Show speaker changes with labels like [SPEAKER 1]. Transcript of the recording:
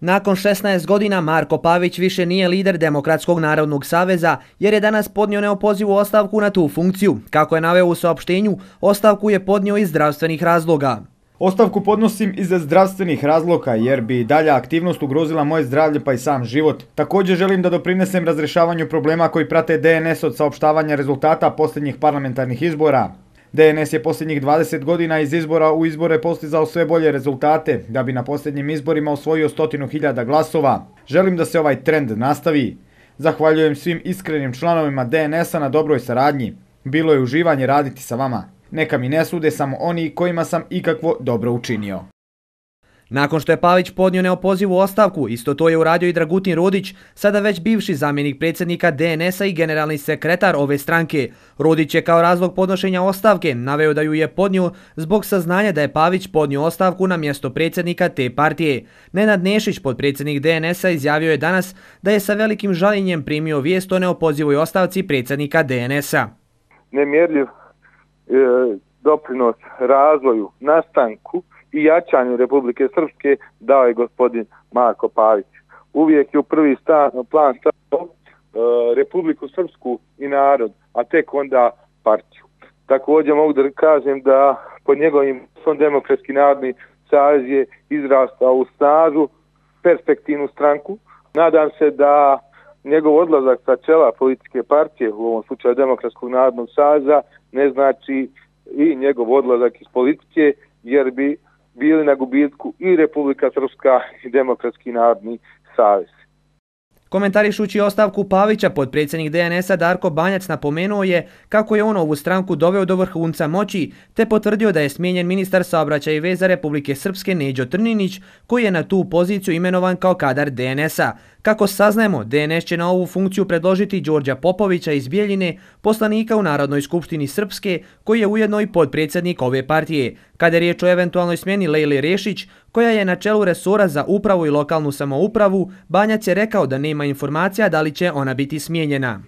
[SPEAKER 1] Nakon 16 godina Marko Pavić više nije lider Demokratskog narodnog saveza jer je danas podnio neopozivu ostavku na tu funkciju. Kako je naveo u saopštenju, ostavku je podnio iz zdravstvenih razloga.
[SPEAKER 2] Ostavku podnosim iz zdravstvenih razloga jer bi dalja aktivnost ugrozila moje zdravlje pa i sam život. Također želim da doprinesem razrješavanju problema koji prate DNS od saopštavanja rezultata posljednjih parlamentarnih izbora. DNS je posljednjih 20 godina iz izbora u izbore postizao sve bolje rezultate, da bi na posljednjim izborima osvojio 100.000 glasova. Želim da se ovaj trend nastavi. Zahvaljujem svim iskrenim članovima DNS-a na dobroj saradnji. Bilo je uživanje raditi sa vama. Neka mi ne sude samo oni kojima sam ikakvo dobro učinio.
[SPEAKER 1] Nakon što je Pavić podnio neopozivu ostavku, isto to je uradio i Dragutin Rodić, sada već bivši zamjenik predsjednika DNS-a i generalni sekretar ove stranke. Rodić je kao razlog podnošenja ostavke naveo da ju je podnio zbog saznanja da je Pavić podnio ostavku na mjesto predsjednika te partije. Nenad Nešić, potpredsjednik DNS-a, izjavio je danas da je sa velikim žaljenjem primio vijest o neopozivoj ostavci predsjednika DNS-a.
[SPEAKER 3] Nemjerljiv doprinos razvoju, nastanku i jačanju Republike Srpske dao je gospodin Marko Pavić. Uvijek je u prvi plan stavio Republiku Srpsku i narod, a tek onda partiju. Također mogu da kažem da pod njegovim Demokratski narodni savez je izrastao u snažnu, perspektivnu stranku. Nadam se da njegov odlazak sa čela političke partije, u ovom slučaju Demokratskog narodnog saveza, ne znači i njegov odlazak iz politike, jer bi bili na gubitku i Republika Srpska i Demokratski narodni savez.
[SPEAKER 1] Komentarišući ostavku Pavića, potpredsjednik DNS-a Darko Banjac napomenuo je kako je on ovu stranku doveo do vrhunca moći, te potvrdio da je smijenjen ministar saobraćaja i veza Republike Srpske Neđo Trninić, koji je na tu poziciju imenovan kao kadar DNS-a. Kako saznajemo, DNS će na ovu funkciju predložiti Đorđa Popovića iz Bijeljine, poslanika u Narodnoj skupštini Srpske, koji je ujedno i potpredsjednik ove partije. Kada je riječ o eventualnoj smjeni Lejle Rešić, koja je na čelu resora za upravu i lokalnu samoupravu, Banjac je rekao da nema informacija da li će ona biti smijenjena.